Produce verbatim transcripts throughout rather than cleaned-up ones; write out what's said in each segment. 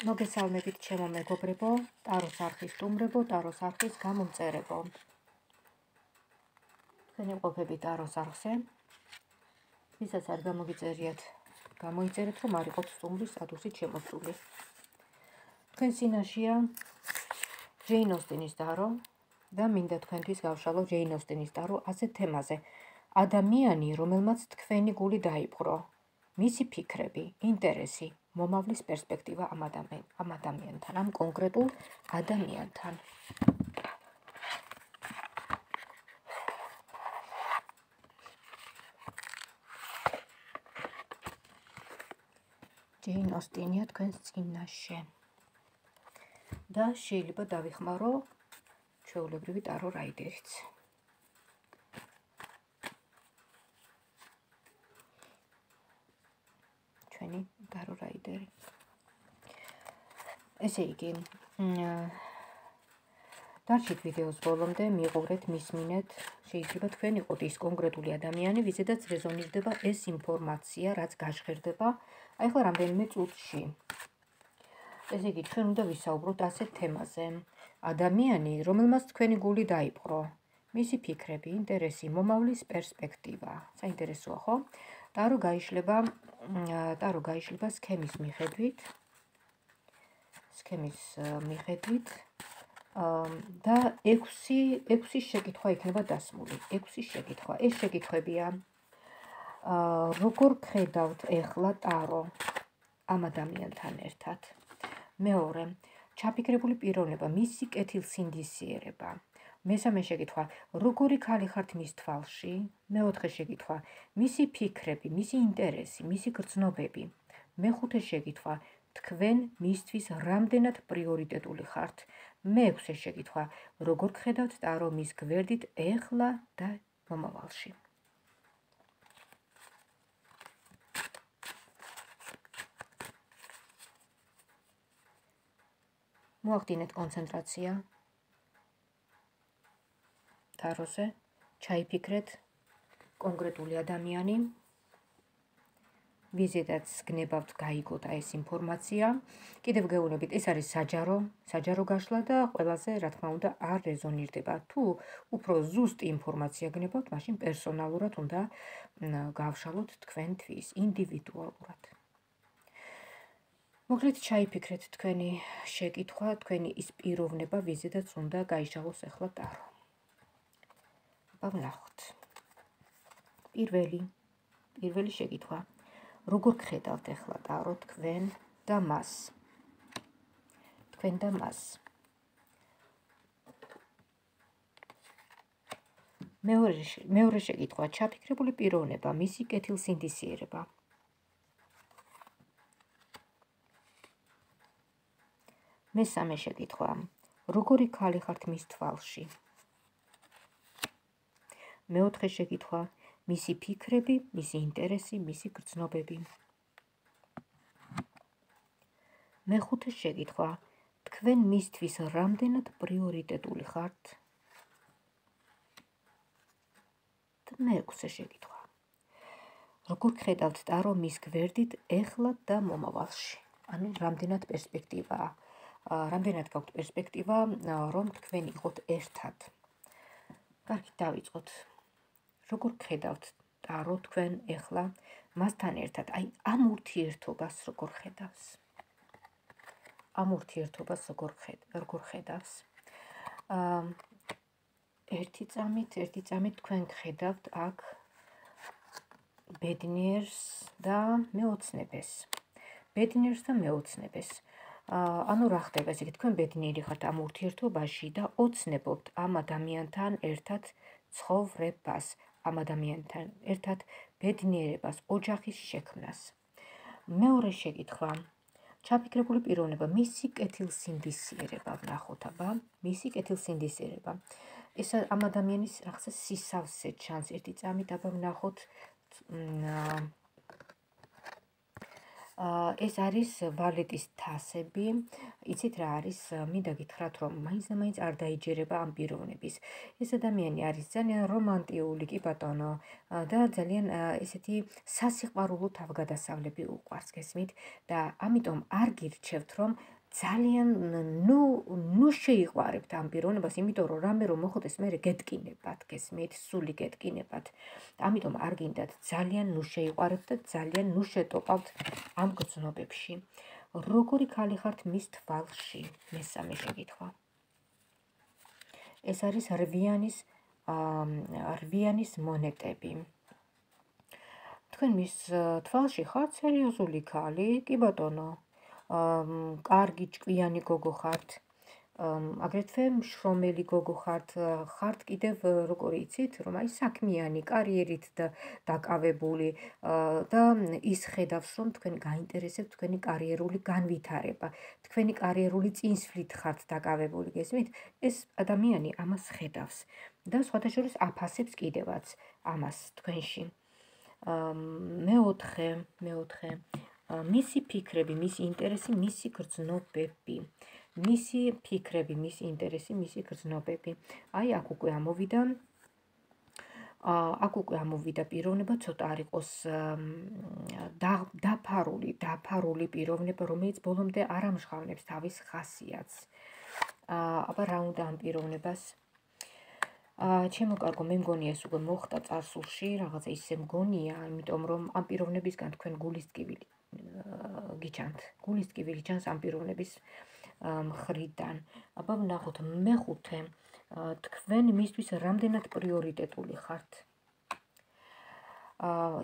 მოგესალმებით ჩემო მეგობრებო, ტაროს არხის სტუმრებო, ტაროს არხის გამომწერებო. თქვენ იმყოფებით ტაროს არხზე. ვისაც არ გამოგიწერიათ, გამოიწერეთ, რომ არ იყოთ სტუმრის სტატუსით შემოსული. თქვენ წინაშეა ჯეინ ოსტინის ტარო და მინდა თქვენთვის გავშალო ჯეინ ოსტინის ტარო ასეთ თემაზე. ადამიანი, რომელმაც თქვენი გული დაიპყრო, მისი ფიქრები, ინტერესი, მომავლის პერსპექტივა ამ ადამიანთან, ამ კონკრეტულ ადამიანთან. ჯეინ ოსტინია თქვენს წინაშე. და შეიძლება დავიხმარო ჩვეულებრივი ტარო რაიდერიც. ჩვენი ტარო რაიდერი. ესე იგი, დარჩით ვიდეოს ბოლომდე, მიყურეთ, მისმინეთ, შეიძლება თქვენ იყოთ ის კონკრეტული ადამიანი, ვიზედაც რეზონირდება ეს ინფორმაცია, რაც გაჟღერდება, აი ახლა რამდენიმე წუთში. ესე იგი, ჩვენ უნდა ვისაუბროთ ასეთ თემაზე. ადამიანი, რომელმაც თქვენი გული დაიპყრო, მისი ფიქრები, ინტერესი, მომავლის პერსპექტივა. საინტერესოა, ხო? ტარო გაიშლება, ტარო გაიშლება სქემის მიხედვით. სქემის მიხედვით და ექვსი ექვსი შეკითხვა იქნება დასმული. ექვსი შეკითხვა. ეს შეკითხვებია: როგორ ხედავთ ეხლა ტარო ამ ადამიანთან ერთად? მეორე, ჩაფიქრებული პიროვნება, მისი კეთილსინდისიერება. მესამე შეკითხვა, როგორი ქალი ხართ მის თვალში? მეოთხე შეკითხვა, მისი ფიქრები, მისი ინტერესი, მისი გრძნობები. მეხუთე შეკითხვა, თქვენ მისთვის რამდენად პრიორიტეტული ხართ? მეექვსე შეკითხვა, როგორ ხედავთ ტარო მის გვერდით ეხლა და მომავალში? მოახდინეთ კონცენტრაცია ტაროზე, ჩაიფიქრეთ კონკრეტული ადამიანი, ვიზედაც გნებავთ გაიგოთ ეს ინფორმაცია. კიდევ გეუბნებით, ეს არის საჯარო, საჯარო გაშლა და ყველაზე, რა თქმა უნდა, არ რეზონირდება. თუ უფრო ზუსტი ინფორმაცია გნებავთ, მაშინ პერსონალურად უნდა გავშალოთ თქვენთვის, ინდივიდუალურად. მოკლედ ჩაიფიქრეთ თქვენი შეკითხვა, თქვენი ის პიროვნება, ვიზედაც უნდა გაიშალოს ახლა ტარო. ვნახოთ. პირველი, პირველი შეკითხვა. როგორ ხედავთ ახლა ტარო თქვენ და მას? თქვენ და მას. მეორე, მეორე შეკითხვა, ჩაფიქრებული პიროვნება, მისი კეთილსინდისიერება. მესამე შეკითხვა, როგორი ქალი ხართ მის თვალში? მეოთხე შეკითხვა, მისი ფიქრები, მისი ინტერესი, მისი გრძნობები. მეხუთე შეკითხვა, თქვენ მისთვის რამდენად პრიორიტეტული ხართ? და მეექვსე შეკითხვა, როგორ ხედავთ ტარო მის გვერდით ეხლა და მომავალში? ანუ რამდენად პერსპექტივაა, რამდენად გაქვთ პერსპექტივა, რომ თქვენ იყოთ ერთად. კარგით, დავიწყოთ. როგორ ხედავთ ტარო თქვენ ეხლა მასთან ერთად? აი ამ ურთიერთობას როგორ ხედავს? ამ ურთიერთობას როგორ ხედავს? ერთი წამით, ერთი წამით თქვენ ხედავთ აქ ბედნიერს და მეოცნებეს. ბედნიერს და მეოცნებეს. ანუ რა ხდება, ესე იგი, თქვენ ბედნიერი ხართ ამ ურთიერთობაში და ოცნებობთ ამ ადამიანთან ერთად ცხოვრებას, ამ ადამიანთან ერთად ბედნიერებას, ოჯახის შექმნას. მეორე შეკითხვა, ჩაფიქრებული პიროვნება, მისი კეთილსინდისიერება. ვნახოთ, აბა, მისი კეთილსინდისიერება. ეს ამ ადამიანის რაღაცა სისავსე ჩანს ერთი წამით, აბა ვნახოთ. ეს არის ვალეტის თასები, იცით რა არის, მინდა გითხრათ, რომ მაინც და მაინც არ დაიჯერება ამ პიროვნების. ეს ადამიანი არის ძალიან რომანტიული, კი ბატონო, და ძალიან ესეთი სასიყვარულო თავგადასავლები უყვარს, გესმით? და ამიტომ არ გირჩევთ, რომ ძალიან ნუ ნუ შეიყვარებთ ამ პიროვნებას, იმიტომ რომ რამე რომ მოხდეს, მე გეტკინებათ, გესმით, სული გეტკინებათ. ამიტომ არ გინდათ ძალიან ნუ შეიყვარებთ და ძალიან ნუ შეტოპავთ ამ გრძნობებში. როგორი ქალი ხართ მის თვალში? მესამე შეკითხვა. ეს არის რვიანის რვიანის მონეტები. თქვენ მის თვალში ხართ სერიოზული ქალი, კი ბატონო. კარგი ჭკვიანი გოგო ხართ. აგრეთვე მშრომელი გოგო ხართ, ხართ კიდევ როგორი იცით, რომ აი საქმიანი, კარიერით დაკავებული და ის ხედავს, რომ თქვენ გაინტერესებთ თქვენი კარიერული განვითარება, თქვენი კარიერული წინსვლით ხართ დაკავებული, გესმით? ეს ადამიანი ამას ხედავს და სხვათაშორის აფასებს კიდევაც ამას თქვენში. მეოთხე, მეოთხე, მისი ფიქრები, მისი ინტერესი, მისი გრძნობები. მისი ფიქრები, მისი ინტერესი, მისი გრძნობები. აი აქ უკვე ამოვიდა აქ უკვე ამოვიდა პიროვნება, ცოტა არ იყოს დაფარული, დაფარული პიროვნება, რომელიც ბოლომდე არ ამჟღავნებს თავის ხასიათს. აბა რა უნდა ამ პიროვნებას? ჩემო კარგო, მე მგონია ეს უკვე მოხდა წარსულში, რაღაცა ისე მგონია, იმიტომ რომ ამ პიროვნებისგან თქვენ გულის ტკივილი გიჩანთ. გულის ტკივილი ჩანს ამ პიროვნების მხრიდან. აბა ვნახოთ მეხუთე, თქვენ მისთვის რამდენად პრიორიტეტული ხართ?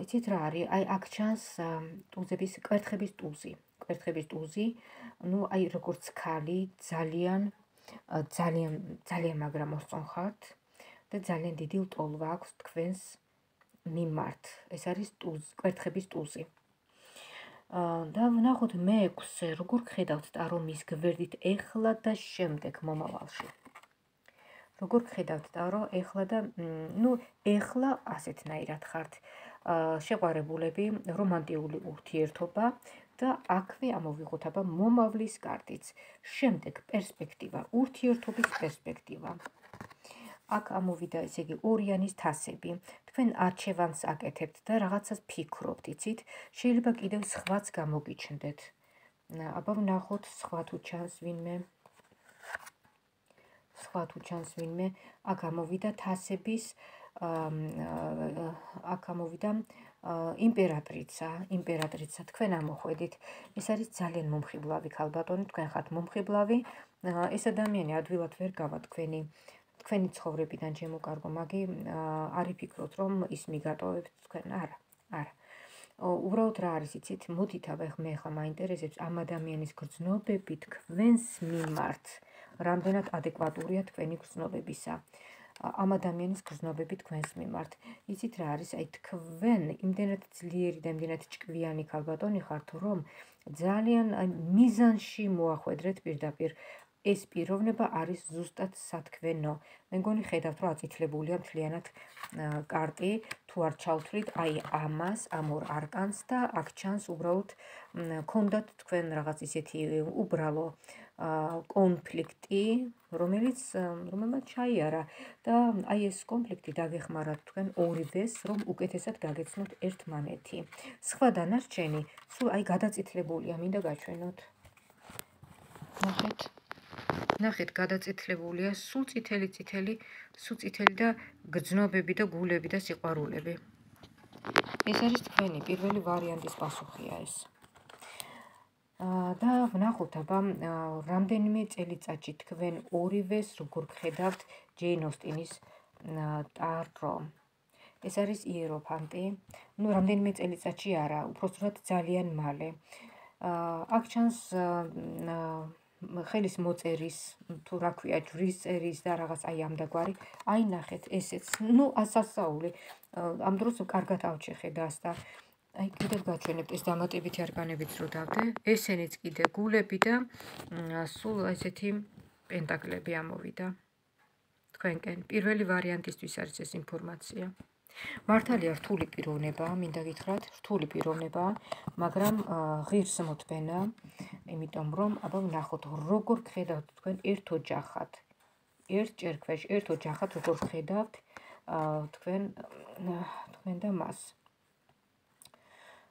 იცით რა არის? აი აქ ჩანს ტუზების, კვერთხების ტუზი. კვერთხების ტუზი, ნუ აი როგორც ქალი, ძალიან ძალიან ძალიან მაგრა მოსწონ ხართ და ძალიან დიდი ლტოლვა აქვს თქვენს მიმართ. ეს არის ტუზ, კვერთხების ტუზი. და ვნახოთ მეექვსე, როგორ ხედავთ ტარომის გვერდით ეხლა და შემდეგ მომავალში. როგორ ხედავთ ტარო ეხლა და ნუ ეხლა ასეთნაირად ხართ. შეყვარებულები, რომანტიული ურთიერთობა და აქვე ამოვიღოთ აბა მომავლის კარტიც. შემდეგ პერსპექტივა, ურთიერთობის პერსპექტივა. აქ ამოვიდა ესე იგი ორიანის თასები. თქვენ არჩევანს აკეთებთ და რაღაცას ფიქრობთ, იცით? შეიძლება კიდევ სხვაც გამოგიჩნდეთ. აბა ვნახოთ სხვა თუ ჩანს ვინმე. სხვა თუ ჩანს ვინმე. აქ ამოვიდა თასების აქ ამოვიდა იმპერატრიცა, იმპერატრიცა, თქვენ ამოხვედით. ეს არის ძალიან მომხიბლავი ქალბატონი, თქვენ ხართ მომხიბლავი. ეს ადამიანი ადვილად ვერ გავა თქვენი თქვენი ცხოვრებიდან, ჩემო კარგო, მაგი არ იფიქროთ, რომ ის მიგატოვებთ თქვენ, არა, არა. უბრალოდ რა არის, იცით, მოდით აბა მე ხა მაინტერესებს ამ ადამიანის გრძნობები თქვენს მიმართ, რამდენად ადეკვატურია თქვენი გრძნობებისა. ამ ადამიანის გრძნობები თქვენს მიმართ. იცით რა არის, აი თქვენ იმდენად ძლიერი და იმდენად ჭკვიანი ქალბატონი ხართ, რომ ძალიან მიზანში მოახვედრეთ პირდაპირ. ეს პიროვნება არის ზუსტად სათქვენო. მე მგონი ხედავთ, რომ აწითლებულია მთლიანად კარტი, თუ არ ჩავთვლით აი ამას, ამ ორ არკანს და აქ ჩანს უბრალოდ ქონდათ თქვენ რაღაც ისეთი უბრალო კონფლიქტი, რომელიც რომელმაც ჩაიარა და აი ეს კონფლიქტი დაგეხმარათ თქვენ ორივეს, რომ უკეთესად გაგეცნოთ ერთმანეთი. სხვა დანარჩენი სულ აი გადაწითლებულია, მინდა გაჩვენოთ. ნახეთ. ნახეთ, გადაწითლებულია, სულ წითელი წითელი, სულ წითელი და გრძნობები და გულები და სიყვარულები. ეს არის თქვენი პირველი ვარიანტის პასუხია ეს. და ვნახოთ აბა რამდენიმე წელიწადში თქვენ ორივეს როგორ გხედავთ ჯეინ ოსტინის ტარო. ეს არის იეროფანტი. ნუ რამდენიმე წელიწადში არა, უпростად ძალიან მალე. აქ ჩანს ხელის მოწერის, თუ რა ქვია, ჯვრის წერის და რაღაც აი ამდაგვარი. აი ნახეთ, ესეც, ნუ ასასაული. ამ დროს კარგად ავჩეხედას და აი კიდევ გაჩვენებთ ეს დამატებითი არკანებიც რო დავდე, ესენიც კიდე გულები და სულ ესეთი პენტაკლები ამოვიდა. თქვენკენ პირველი ვარიანტისთვის არის ეს ინფორმაცია. მართალია რთული პიროვნებაა, მინდა გითხრათ, რთული პიროვნებაა, მაგრამ ღირს მოთბენა, იმიტომ რომ, აბა ვნახოთ, როგორ გხედავთ თქვენ ერთ ოჯახად. ერთ ჭერქვეშ, ერთ ოჯახად როგორ გხედავთ თქვენ თქვენ და მას.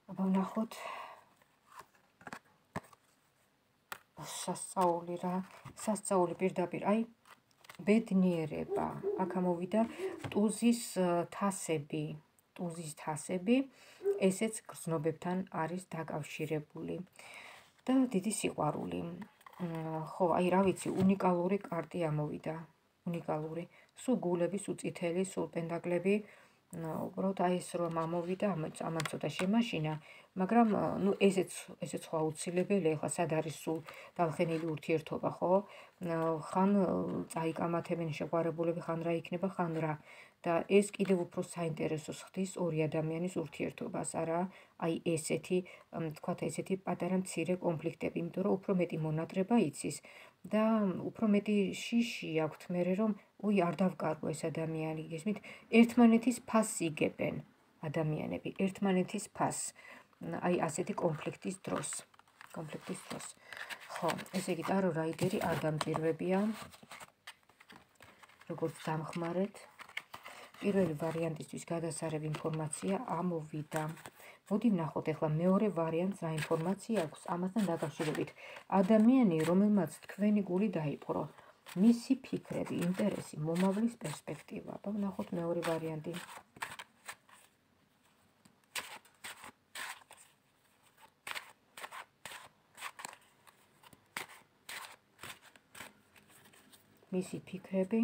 აბა ვნახოთ სასწაული რა, სასწაული პირდაპირ, აი ბედნიერება, აქ ამოვიდა ტუზის თასები, ტუზის თასები, ესეც გრძნობებთან არის დაკავშირებული და დიდი სიყვარული. ხო, აი რა ვიცი, უნიკალური კარტი ამოვიდა, უნიკალური, სულ გულები, სულ წითელი, სულ პენტაკლები, უბრალოდ აი ეს რომ ამოვიდა, ამან ცოტა შემაშინა, მაგრამ ნუ ესეც ესეც ხო აუცილებელია, ხა სად არის სულ დავხენილი ურთიერთობა, ხო? ხან წაიკამათებენ შეყვარებულები, ხან რა იქნება, ხან რა. და ეს კიდევ უფრო საინტერესოს ხდის ორი ადამიანის ურთიერთობას, არა? აი ესეთი, თქვათ ესეთი პატარა მცირე კონფლიქტები, იმიტომ რომ უფრო მეტი მონატრება იცის და უფრო მეტი შიში აქვთ მერე რომ უი არ დავკარგო ეს ადამიანი, გესმით? ერთმანეთის ფასს იგებენ ადამიანები, ერთმანეთის ფასს. აი ასეთი კონფლიქტის დროს, კონფლიქტის დროს. ხო, ესე იგი ტარო რაიდერი არ დამჭირვებია. როგორც დამხმარეთ, პირველი ვარიანტისთვის გადასარევ ინფორმაცია ამოვიდა. მოდი ვნახოთ ახლა მეორე ვარიანტს რა ინფორმაცია აქვს ამასთან დაკავშირებით. ადამიანი, რომელმაც თქვენი გული დაიპყრო, მისი ფიქრები, ინტერესი, მომავლის პერსპექტივა. აბა ვნახოთ მეორე ვარიანტი. მისი ფიქრები,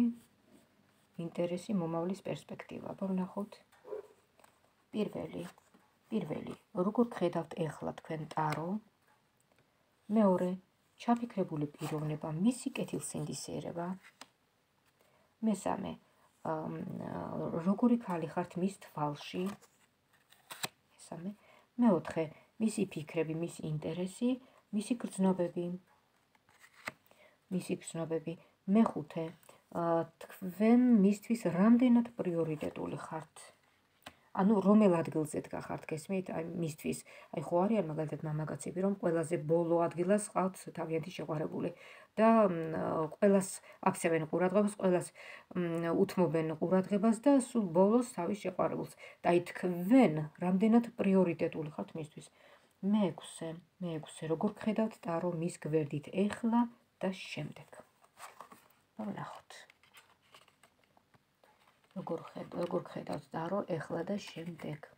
ინტერესი, მომავლის პერსპექტივა. აბა ვნახოთ. პირველი, პირველი, როგორ გხედავთ ეხლა თქვენ ტარო? მეორე, ჩაფიქრებული პიროვნება, მისი კეთილსინდისიერება. მესამე, როგორი ქალი ხართ მის თვალში? მესამე, მეოთხე, მისი ფიქრები, მისი ინტერესი, მისი გრძნობები. მისი გრძნობები. მეხუთე, თქვენ მისთვის რამდენად პრიორიტეტული ხართ? ანუ რომელ ადგილზე დგა ხართ, გესმით? აი მისთვის. აი ხო არიან მაგალითად მამაკაცები, რომ ყველაზე ბოლო ადგილას ყავთ თავიანთი შეყვარებული და ყველას აქცევენ ყურადღებას, ყველას უთმობენ ყურადღებას და სულ ბოლოს თავის შეყვარებულს. და აი თქვენ რამდენად პრიორიტეტული ხართ მისთვის? მეექვსე, მეექვსე, როგორ გხედავთ ტარო მის გვერდით ეხლა და შემდეგ? ვნახოთ. როგორ როგორ გხედავთ ტარო ეხლა და შემდეგ?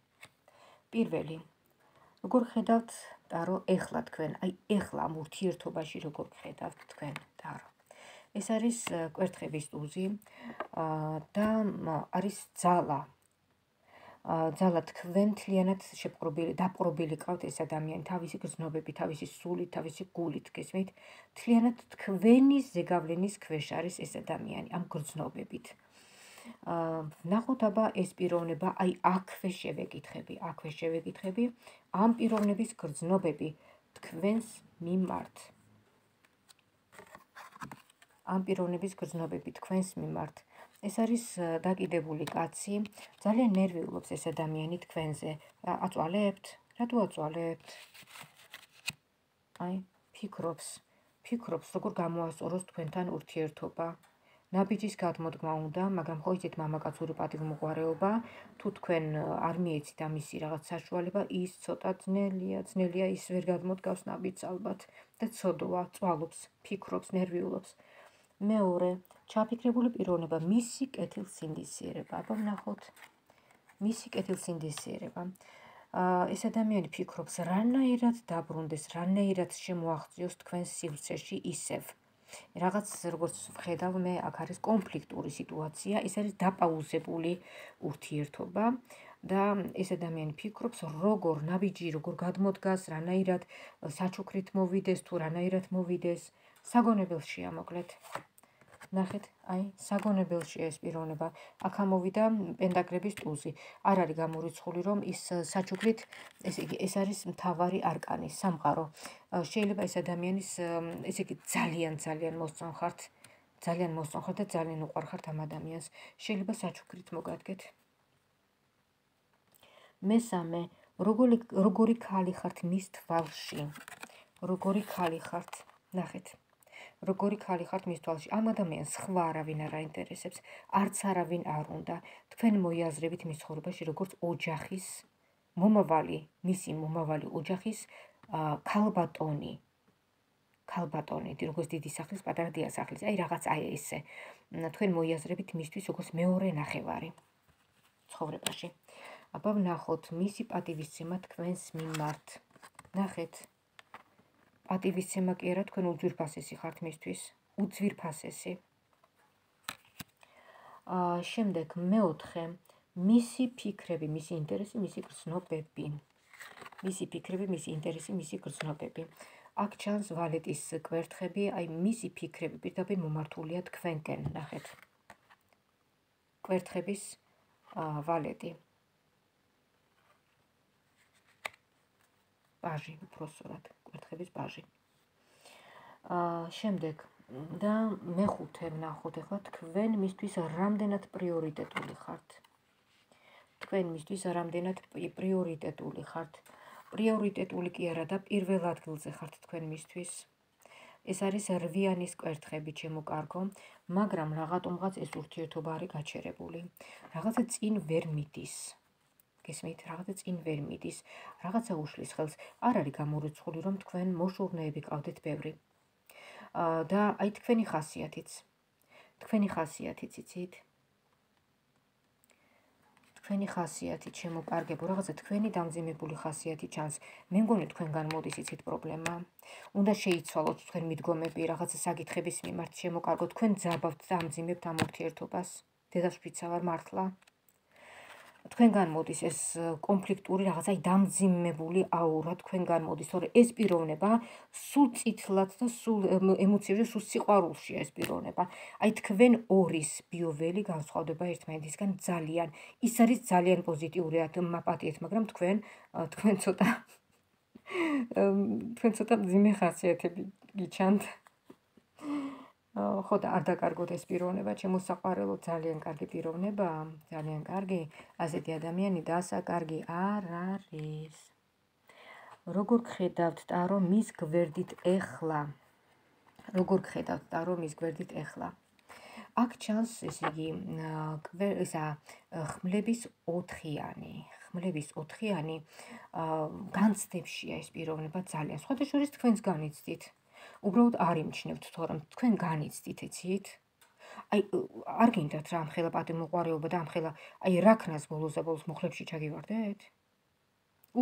პირველი, როგორ გხედავთ ტარო ეხლა თქვენ? აი ეხლა ამ ურთიერთობაში როგორ გხედავთ თქვენ ტარო? ეს არის კვერთხების ტუზი და არის ძალა. ძალა თქვენ თლიანად შეპყრობილი, დაპყრობილი ყავთ ეს ადამიანი, თავისი გრძნობები, თავისი სულით, თავისი გულით, გესმით? თლიანად თქვენი ზეგავლენის ქვეშ არის ეს ადამიანი, ამ გრძნობებით. ვნახოთ აბა ეს პიროვნება, აი აქვე შევეკითხები, აქვე შევეკითხები, ამ პიროვნების გრძნობები თქვენს მიმართ. ამ პიროვნების გრძნობები თქვენს მიმართ. ეს არის დაკიდებული კაცი, ძალიან ნერვიულობს ეს ადამიანი თქვენზე. აწვალებთ? რატო აწვალებთ? აი, ფიქრობს, ფიქრობს, როგორ გამოასწოროს თქვენთან ურთიერთობა. ნაბიჯის გადმოდგმა უნდა, მაგრამ ხო იცით მამაკაცური პატივმოყვარეობა, თუ თქვენ არ მიეცით ამისი რაღაც საშუალება, ის ცოტა ძნელია, ძნელია ის ვერ გადმოდგავს ნაბიჯს ალბათ და ცოდვა, წვალობს, ფიქრობს, ნერვიულობს. მეორე, ჩაფიქრებული პიროვნება, მისი კეთილსინდისიერება. აბა ვნახოთ. მისი კეთილსინდისიერება. ეს ადამიანი ფიქრობს, რანაირად დაბრუნდეს, რანაირად შემოაღწიოს თქვენს სივრცეში ისევ. რაღაც როგორც ვხედავ მე, აქ არის კონფლიქტური სიტუაცია, ეს არის დაპაუზებული ურთიერთობა და ეს ადამიანი ფიქრობს, როგორ ნაბიჯი, როგორ გადმოდგას, რანაირად საჩუქრით მოვიდეს თუ რანაირად მოვიდეს, საგონებელშია მოკლედ. ნახეთ, აი, საგონებელშია ეს პიროვნება. აქ ამოვიდა პენტაკლების ტუზი. არ არის გამორიცხული, რომ ის საჩუქრით, ესე იგი, ეს არის მთავარი არკანი, სამყარო. შეიძლება ეს ადამიანის, ესე იგი, ძალიან ძალიან მოსწონხართ, ძალიან მოსწონხართ და ძალიან უყვარხართ ამ ადამიანს. შეიძლება საჩუქრით მოგადგეთ. მესამე, როგორი როგორი ქალი ხართ მის თვალში. როგორი ქალი ხართ. ნახეთ. როგორი ქალი ხართ მის თვალში. ამ ადამიანს სხვა არავინ არ აინტერესებს, არც არავინ არ უნდა. თქვენ მოიაზრებით მის ცხოვრებაში როგორც ოჯახის მომავალი, მისი მომავალი ოჯახის ქალბატონი. ქალბატონი, როგორც დიდი სახლის, პატარა დიასახლის. აი რაღაც აი ესე. თქვენ მოიაზრებით მისთვის როგორც მეორე ნახევარი ცხოვრებაში. აბა ვნახოთ მისი პატივისცემა თქვენს მიმართ. ნახეთ. პატივისცემა კი არა, თქვენ უძვირფასესი ხართ მისთვის. უძვირფასესი. აა შემდეგ მეოთხე, მისი ფიქრები, მისი ინტერესი, მისი გრძნობები. მისი ფიქრები, მისი ინტერესი, მისი გრძნობები. აქ ჩანს ვალეტის კვერთხები, აი მისი ფიქრები პირდაპირ მომართულია თქვენკენ, ნახეთ. კვერთხების ვალეტი. ბაჟი, უпроსორად, კვერთხების ბაჟი. შემდეგ და მეხუთე ვნახოთ ახლა თქვენ მისთვის რამდენად პრიორიტეტული ხართ. თქვენ მისთვის რამდენად პრიორიტეტული ხართ. პრიორიტეტული კი არა და პირველ ადგილზე ხართ თქვენ მისთვის. ეს არის რვიანის კვერთხები, ჩემო კარგო, მაგრამ რაღაცომღაც ეს ურთიერთობა არის გაჩერებული. რაღაცა წინ ვერ მიდის. გესმით, რაღაცა წინ ვერ მიდის. რაღაცა უშლის ხელს. არ არის გამორიცხული, რომ თქვენ მოშურნეები ყავდეთ ბევრი. და აი თქვენი ხასიათიც. თქვენი ხასიათიც იცით? თქვენი ხასიათი, ჩემო კარგებო, რაღაცა თქვენი დამძიმებული ხასიათი ჩანს. მე მგონი თქვენგან მოდის იცით პრობლემა. უნდა შეიცვალოთ თქვენ მიდგომები რაღაცა საკითხების მიმართ, ჩემო კარგო, თქვენ ძაბავთ და ამძიმებთ ამ ურთიერთობას. დედაშვილიცა ვარ მართლა. თქვენგან მოდის ეს კონფლიქტური რაღაცა დამძიმებული აურა თქვენგან მოდის, თორე ეს პიროვნება სულ წითლად და სულ ემოციებში, სულ სიყვარულშია ეს პიროვნება. აი თქვენ ორის ბიოველი განსხვავდება ერთმანეთისგან ძალიან. ის არის ძალიან პოზიტიური აპატიეთ, მაგრამ თქვენ თქვენ ცოტა თქვენ ცოტა მძიმე ხასიათები გიჩანთ. ხო და არ დაკარგოთ ეს პიროვნება, ჩემო საყვარელო, ძალიან კარგი პიროვნებაა, ძალიან კარგი, ასეთი ადამიანი დასაკარგი არ არის. როგორ გხედავთ ტარო მის გვერდით ეხლა? როგორ გხედავთ ტარო მის გვერდით ეხლა? აქ ჩანს ესე იგი ესა ხმლების ოთხიანი. ხმლების ოთხიანი განცდებშია ეს პიროვნება ძალიან. სხვათა შორის თქვენს განიცდით. უბრალოდ არ იმჩნევთ თორემ თქვენ განიცდით, იცით? აი არ გინდათ რა ამხელა პატიმოყვარეობა და ამხელა აი რაქნას ბოლოს და ბოლოს მუხლებში ჩაგივარდეთ?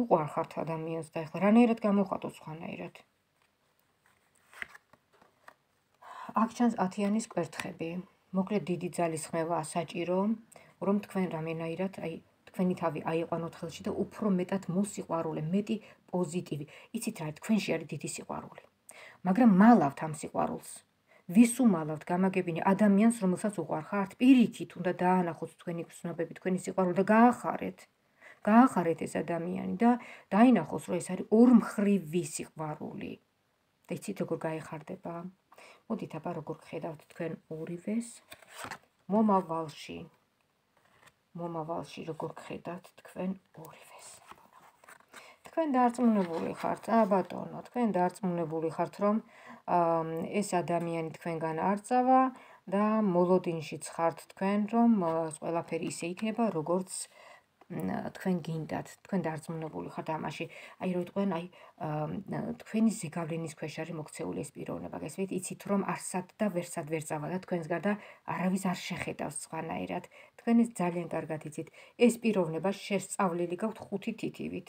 უყვარ ხართ ადამიანს და ეხლა რანაირად გამოხატოთ სხვანაირად? აქ ჩანს ათიანის კვერთხები. მოკლედ დიდი ძალის ხმევაა საჭირო, რომ თქვენ რამენაირად აი თქვენი თავი აიყვანოთ ხელში და უფრო მეტად მოსიყვარულე, მეტი პოზიტივი. იცით რა, თქვენში არის დიდი სიყვარული. მაგრამ მალავთ ამ სიყვარულს. ვის უმალავთ გამაგებინე ადამიანს, რომელსაც უყვარ ხართ, პირიქით უნდა დაანახოთ თქვენი გრძნობები, თქვენი სიყვარული და გაახარეთ. გაახარეთ ეს ადამიანი და დაინახოს, რომ ეს არის ორმხრივი სიყვარული. და იცით როგორ გაეხარდება? მოდით აბა როგორ გხედავთ თქვენ ორივეს მომავალში. მომავალში როგორ გხედავთ თქვენ ორივეს. თქვენ დარწმუნებული ხართ, ა ბატონო, თქვენ დარწმუნებული ხართ, რომ ეს ადამიანი თქვენგან არ წავა და მოლოდინშიც ხართ თქვენ, რომ ყველაფერი ისე იქნება, როგორც თქვენ გინდათ, თქვენ დარწმუნებული ხართ ამაში. აი რო თქვენ აი თქვენი ზეგავლენის ქვეშ არის მოქცეული ეს პიროვნება, გესმით? იცით რომ არსად და ვერსად ვერ წავა და თქვენს გარდა არავის არ შეხედავს სხვანაირად. თქვენ ეს ძალიან კარგად იცით. ეს პიროვნება შესწავლილი გაქვთ ხუთი თითივით.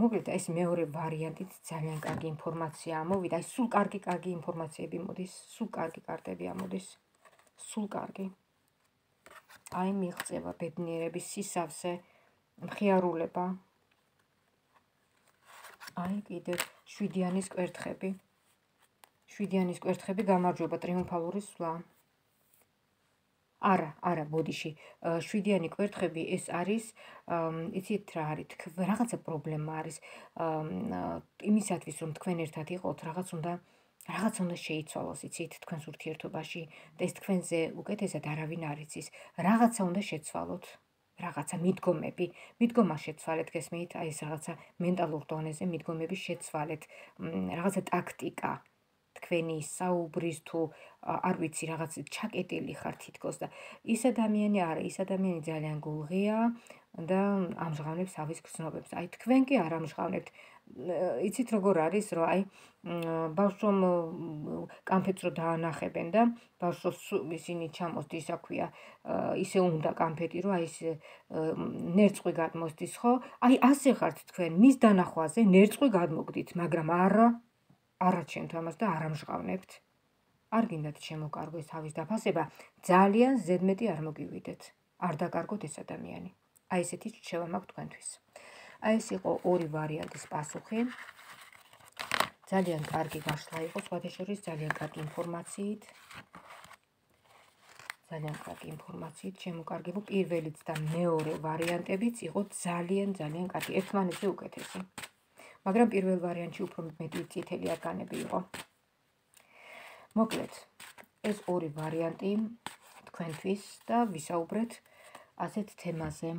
მოკლედ ეს მეორე ვარიანტით ძალიან კარგი ინფორმაცია ამოვიდა. აი სულ კარგი კარგი ინფორმაციები მოდის, სულ კარგი კარტები ამოდის. სულ კარგი. აი მიღწევა, ბედნიერების სისავსე, მხიარულება. აი კიდევ შვიდიანის კვერთხები. შვიდიანის კვერთხები გამარჯვება, ტრიუმფალური სვლა. არა, არა, ბოდიში. შვიდიანი კვერთხები ეს არის, იცით რა არის, რაღაცა პრობლემა არის. იმისათვის რომ თქვენ ერთად იყოთ, რაღაც უნდა რაღაც უნდა შეიცვალოს, იცით, თქვენს ურთიერთობაში და ეს თქვენზე უკეთესად არავინ არ იცის. რაღაცა უნდა შეცვალოთ. რაღაცა მიდგომები, მიდგომა შეცვალეთ, გესმით, აი ეს რაღაცა მენტალურ დონეზე მიდგომების შეცვალეთ, რაღაცა ტაქტიკა, თქვენი საუბრის თუ არ ვიცი, რაღაც ჩაკეტილი ხარ თითქოს და ის ადამიანი არა, ის ადამიანი ძალიან გულღია და ამჟღავნებს თავის გრძნობებს. აი თქვენ კი არ ამჟღავნებთ. იცით როგორ არის, რომ აი ბავშვს რომ კამფეტს რო დაანახებენ და ბავშვს ისინი ჩამოსდის, ისა ქვია, ისე უნდა კამფეტი, რომ აი ეს ნერწყვი გადმოსდის, ხო? აი ასე ხართ თქვენ, მის დანახვაზე ნერწყვი გადმოგდით, მაგრამ არა არაჩვენთ ამას და არ ამჟღავნებთ. არ გინდათ შემოკარგოს თავის დაფასება, ძალიან ზედმეტი არ მოგივიდეთ. არ დაკარგოთ ეს ადამიანი. აი ესეთი რჩევა მაქვს თქვენთვის. აი ეს იყო ორი ვარიანტის პასუხი. ძალიან კარგი გაშლა იყო, სხვათა შორის ძალიან კარგი ინფორმაციით. ძალიან კარგი ინფორმაციით შემოკარგებო. პირველიც და მეორე ვარიანტებიც იყო ძალიან ძალიან კარგი, ერთმანეთზე უკეთესი. მაგრამ პირველ ვარიანტში უფრო მეტი წითელი არგანები იყო. მოკლედ, ეს ორი ვარიანტი თქვენთვის და ვისაუბრეთ ასეთ თემაზე.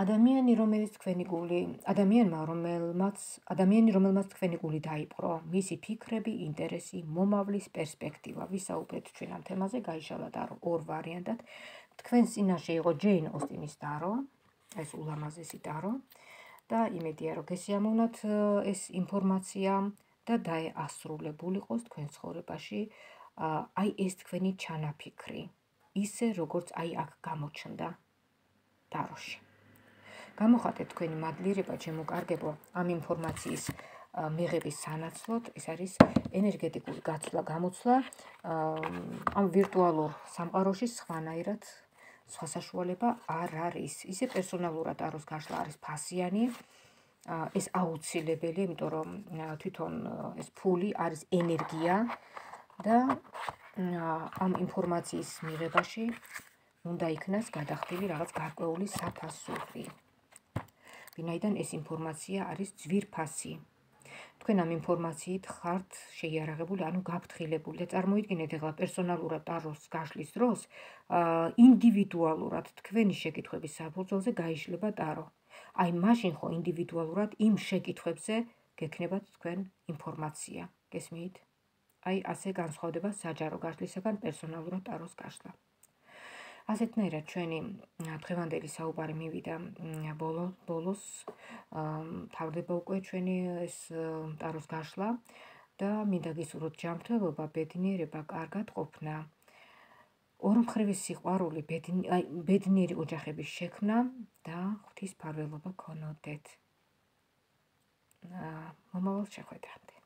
ადამიანი, რომელიც თქვენი გული, ადამიანმა, რომელმაც, ადამიანი, რომელმაც თქვენი გული დაიპყრო, მისი ფიქრები, ინტერესი, მომავლის პერსპექტივა. ვისაუბრეთ ჩვენ ამ თემაზე, გაიშალა დარო ორ ვარიანტად. თქვენს წინაშე იყო ჯეინ ოსტინის დარო, ეს ულამაზესი დარო და იმედია, რომ გესიამოვნათ ეს ინფორმაცია და დაასრულებულიყოს თქვენ ცხოვრებაში აი ეს თქვენი ჩანაფიქრი, ისე როგორც აი აქ გამოჩნდა დაროში. გამოხატეთ თქვენი მადლიერება, ჩემო კარგებო, ამ ინფორმაციის მიღების სანაცვლოდ, ეს არის ენერგეტიკული გაცვლა, გამოცვლა ამ ვირტუალურ სამყაროში სხვანაირად სხვა საშუალება არ არის. ისე პერსონალურად აროს გაშლა არის ფასიანი, ეს აუცილებელი, იმიტომ რომ თვითონ ეს ფული არის ენერგია და ამ ინფორმაციის მიღებაში უნდა იქნას გადახდილი რაღაც გარკვეული საფასური. ვინაიდან ეს ინფორმაცია არის ძვირფასი. თქვენ ამ ინფორმაციით ხართ შეიარაღებული, ანუ გაფრთხილებული და წარმოიდგინეთ ეხლა პერსონალურად ტაროს გაშლის დროს ინდივიდუალურად თქვენი შეკითხვების საფუძველზე გაიშლება ტარო. აი მაშინ ხო ინდივიდუალურად იმ შეკითხვებზე გექნებათ თქვენ ინფორმაცია. გესმით? აი ასე განსხვავდება საჯარო გაშლისაგან პერსონალურად ტაროს გაშლა. ასეთნაირად ჩვენი დღევანდელი საუბარი მივიდა ბოლო ბოლოს, თავდება უკვე ჩვენი ეს ტაროს გაშლა და მინდა გისურვოთ ჯანმრთელობა, ბედნიერება, კარგად ყოფნა, ორმხრივი სიყვარული, ბედნიერი ოჯახების შექმნა და ღვთის ფარველობა გქონოდეთ. მომავალ შეხვედრამდე.